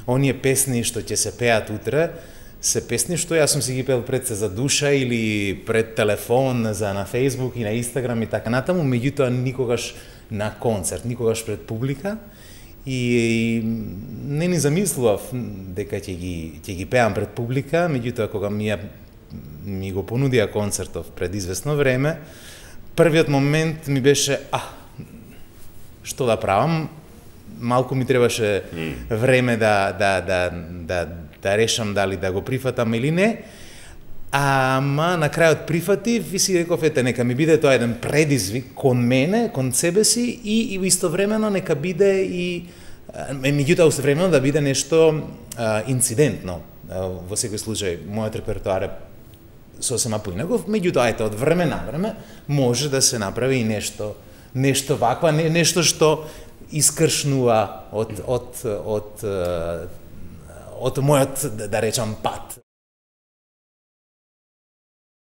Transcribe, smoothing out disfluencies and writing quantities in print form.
оние песни што ќе се пеат утре, се песни што јас сум си ги пел пред се за душа или пред телефон за на Facebook и на Instagram и така натаму, меѓутоа никогаш на концерт, никогаш пред публика. И не ни замислував дека ќе ги пеам пред публика, меѓутоа кога ми го понудија концертов пред известно време, првиот момент ми беше што да правам, малку ми требаше време да решам дали да го прифатам или не, ама на крајот прифатив и си реков, нека ми биде тоа еден предизвик кон мене, кон себе си и истовремено нека биде и меѓутоа истовремено да биде нешто инцидентно. Во секој случај, мојот репертоар е сосема поинаков, меѓутоа од време на време може да се направи и нешто ваква, нешто што искршнува од мојот, да речам, пат.